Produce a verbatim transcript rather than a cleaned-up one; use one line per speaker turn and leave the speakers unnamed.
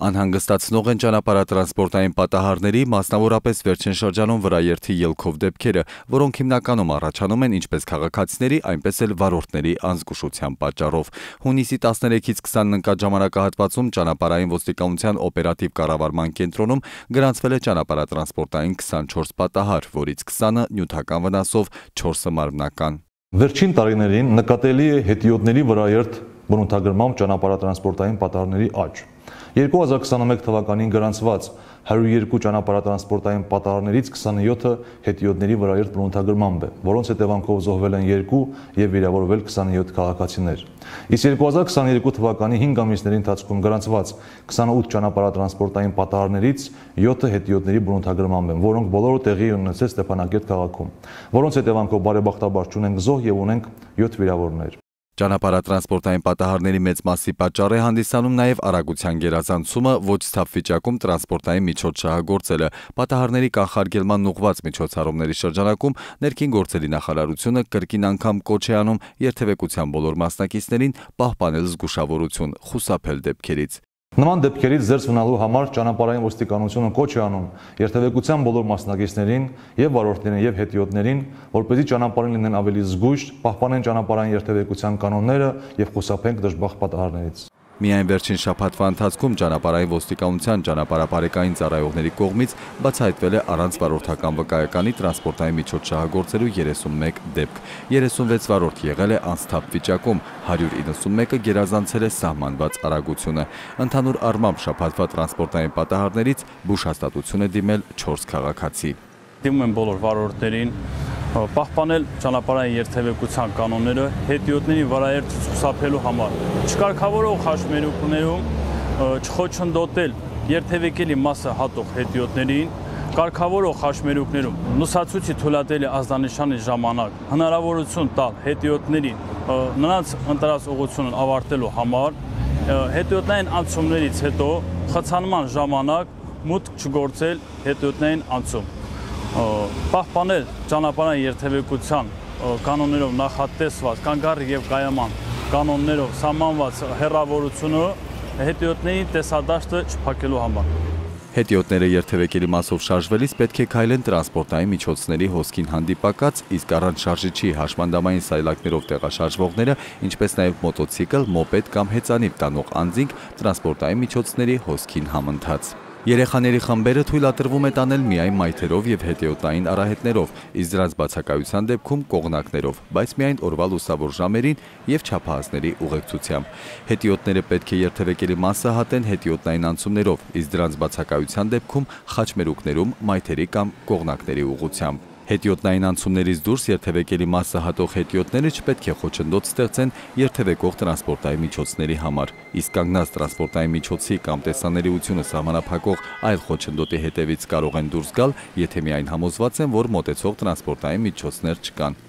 Անհանգստացնող են ճանապարհատրանսպորտային պատահարների, մասնավորապես վերջին շրջանում վրաերթի ելքով դեպքերը, որոնք հիմնականում առաջանում են ինչպես քաղաքացիների, այնպես էլ վարորդների անզգուշության պատճառով։ Հունիսի տասներեքից քսանն ընկած ժամանակահատվածում ճանապարհային ոստիկանության օպերատիվ կառավարման կենտրոնում գրանցվել է ճանապարհատրանսպորտային քսանչորս պատահար, որից քսանը նյութական վնասով, չորսը մարմնական։
Վերջին տարիներին նկատելի է հետիոտների վրաերթ բնութագրմամբ ճանապարհատրանսպորտային պատահարների աճ։ երկու հազար քսաներկու թվականին գրանցված հարյուր երկու ճանապարհատրանսպորտային պատահարներից քսանյոթը հետիոտների վրաերթ բնութագրմամբ է, որոնց հետևանքով զոհվել են երկու եւ վիրավորվել քսանյոթ քաղաքացիներ։ Իսկ երկու հազար քսաներկու թվականի հինգ ամիսների ընթացքում գրանցված քսանութ ճանապարհատրանսպորտային պատահարներից յոթը հետիոտների բնութագրմամբ են, որոնք բոլորը տեղի են ունեցել Ստեփանակերտ քաղաքում, որոնց հետևանքով բարեբախտաբար չունենք զոհ եւ ունենք յոթ վիրավորներ։
Ճանապարհատրանսպորտային պատահարների մեծ մասի պատճառ է հանդիսանում նաև արագության գերազանցումը, ոչ սթափ վիճակում տրանսպորտային միջոց շահագործելը։ Պատահարների կանխարգելման ուղղված միջոցառումների շրջանակում ներքին գործերի նախարարությունը կրկին անգամ կոչ է անում երթևեկության բոլոր մասնակիցներին պահպանել զգուշավորություն, խուսափել դեպքերից։
Նման դեպքերից զերծ մնալու համար ճանապարհային ոստիկանությունը կոչ է անում երթևեկության բոլոր մասնակիցներին եւ վարորդներին եւ հետիոտներին, որպեսզի ճանապարհին լինեն ավելի զգույշ, պահպանեն ճանապարհային երթևեկության կանոնները եւ խուսափենք դժբախտ պատահարներից։
Միայն վերջին շաբաթվա ընթացքում ճանապարհային ոստիկանության ճանապարհապարեկային ծառայողների կողմից բացահայտվել է առանց վարորդական վկայականի տրանսպորտային միջոց շահագործելու երեսունմեկ դեպք։ երեսունվեց վարորդ եղել է անսթափ վիճակում, հարյուր իննսունմեկը գերազանցել է սահմանված արագությունը։ Ընդհանուր առմամբ շաբաթվա տրանսպորտային պատահարներից բուժ հաստատություն է դիմել չորս քաղաքացի։
Դիմում են բոլոր վարորդներին պահպանել ճանապարհային երթևեկության կանոնները հետիոտների վրաերթ խուսափելու համար, չկարգավորող խաչմերուկներում չխոչընդոտել երթևեկելի մասը հատող հետիոտներին, կարգավորող խաչմերուկներում լուսացույցի թույլատելի ազդանշանի ժամանակ հնարավորություն տալ հետիոտներին նրանց ընտրած ուղղությունն ավարտելու համար, հետիոտային անցումներից հետո խցանման ժամանակ մուտք չգործել հետիոտային անցում, պահպանել ճանապարհային երթևեկության կանոններով նախատեսված կանգառի եւ կայաման կանոններով սահմանված հեռավորությունը հետիոտների տեսադաշտը չփակելու համար։
Հետիոտները երթևեկելի մասով շարժվելիս պետք է քայլեն տրանսպորտային միջոցների հոսքին հանդիպակաց, իսկ առանց շարժիչի հաշմանդամային սայլակներով տեղաշարժվողները, ինչպես նաև մոտոցիկլ, մոպեդ կամ հեծանիվ տանող անձինք տրանսպորտային միջոցների հոսքին համընթաց։ Երեխաների խմբերը թույլատրվում է տանել միայն մայթերով եւ հետիոտային արահետներով, իսկ դրանց բացակայության դեպքում կողնակներով, բայց միայն օրվա լուսավոր ժամերին եւ չափահասների ուղեկցությամբ։ Հետիոտները պետք է երթևեկելի մասը հատեն հետիոտնային անցումներով, իսկ դրանց բացակայության դեպքում խաչմերուկներում մայթերի կամ կողնակների ուղղությամբ։ Հետիոտնային անցումներից դուրս երթևեկելի մասը հատող հետիոտները չպետք է խոչընդոտ ստեղծեն երթևեկող տրանսպորտային միջոցների համար, իսկ կանգնած տրանսպորտային միջոցի կամ տեսանելիությունը սահմանափակող այլ խոչընդոտի հետևից կարող են դուրս գալ, եթե միայն համոզված են, որ մոտեցող տրանսպորտային միջոցներ չկան։